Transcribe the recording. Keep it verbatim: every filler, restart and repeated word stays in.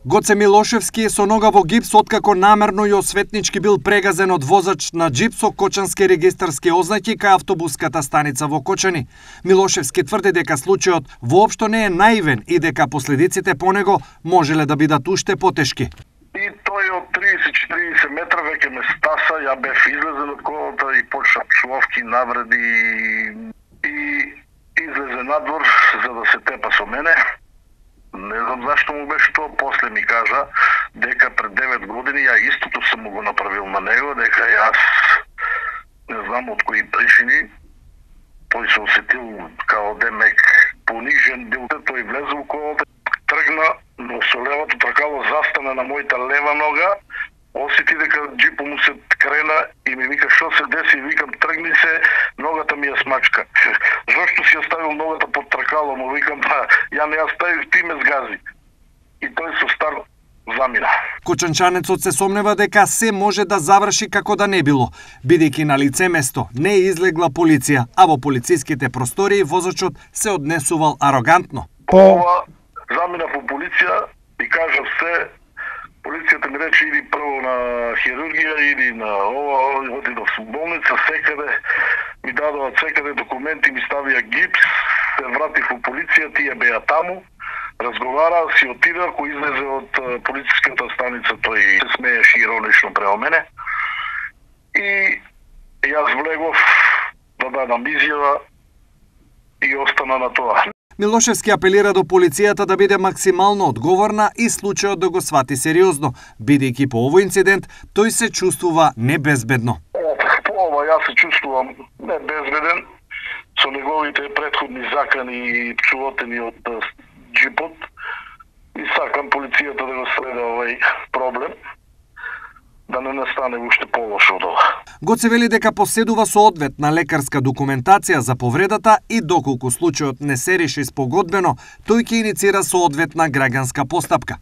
Гоце Милошевски е со нога во гипс откако намерно и осветнички бил прегазен од возач на джип со кочански регистарски ознаки кај автобуската станица во Кочани. Милошевски тврди дека случајот воопшто не е наивен и дека последиците по него можеле да бидат уште потешки. И тој од триесет до четириесет метра веќе ме стаса, ја бев излезен од колата и почна псовки, навреди и излезе надвор за да се тепа со мене. Не знам зашто му беше тоа, после ми кажа дека пред девет години ја истото сум му го направил на него, дека јас не знам од кои причини тој се осетил као демек понижен, бил тој влезе во колата, тргна, но со левото тркало застана на мојата лева нога, осети дека джипо му се крена и ми вика што се деси, викам тргни се, ногата ми ја смачка. Зошто си ја ставил ногата под тркало, му викам па ја не ја ставив, ти ме згази. И тој со стар замина. Кочанчанецот се сомнева дека се може да заврши како да не било, бидејќи на лице место не е излегла полиција, а во полициските простории возачот се однесувал арогантно. Ова замина по полиција и кажа се. Полицијата ми рече иди прво на хирургија, иди на ова, оди до болница, секаде ми дадоа секаде документи, ми ставија гипс, се вратив во полиција, тие беа таму, разговараа, си отида, кој излезе од полициската станица, тој се смееше иронично према мене. И јас влегов да дадам изјава и остана на тоа. Милошевски апелира до полицијата да биде максимално одговорна и случајот да го свати сериозно, бидејќи по овој инцидент тој се чувствува небезбедно. По ова јас се чувствувам небезбеден со неговите претходни закани и пчувотени од джипот и сакам полицијата да го следа овој проблем, да не настане уште полошо од ова. Гоце вели дека поседува со одветна лекарска документација за повредата и доколку случајот не се реши спогодбено, тој ќе иницира соодветна граѓанска постапка.